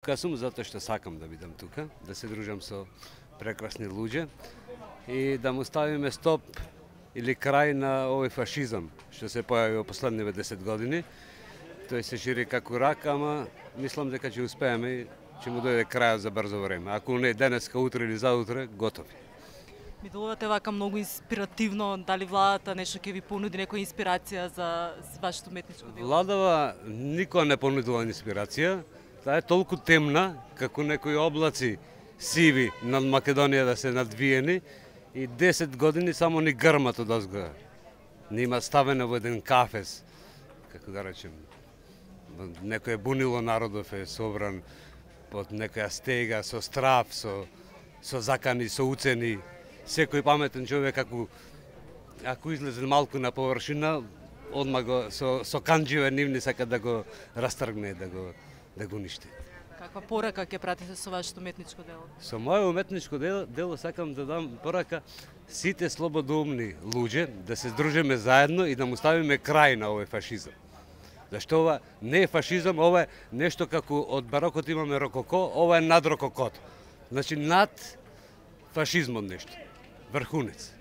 Тука сум затоа што сакам да бидам тука, да се дружам со прекрасни луѓе и да му ставиме стоп или крај на овој фашизам што се појави во последниве 10 години. Тој се шири како рак, ама мислам дека ќе успееме и ќе му дојде крајот за брзо време. Ако не денеска, утре или заутре, готови. Ми делувате вака многу инспиративно, дали владата нешто ќе ви понуди некоја инспирација за вашето уметничко дело? Владава никога не понудила инспирација. Таа е толку темна, како некои облаци сиви над Македонија да се надвиени и 10 години само ни грмат од озгора. Нима ставено во еден кафес, како да речем, некој бунило народов е собран под некоја стега, со страв, со закани, со уцени. Секој паметен човек, ако излезе малку на површина, одма го со канџиве нивни сака да го растргне, да го уништи. Каква порака ќе пратите со вашето уметничко дело? Со моје уметничко дело сакам да дам порака сите слободоумни луѓе да се здружиме заедно и да му ставиме крај на овој фашизам. Зашто ова не е фашизам, ова е нешто како од барокот имаме рококо, ова е над рококото. Значи над фашизмот нешто. Врхунец.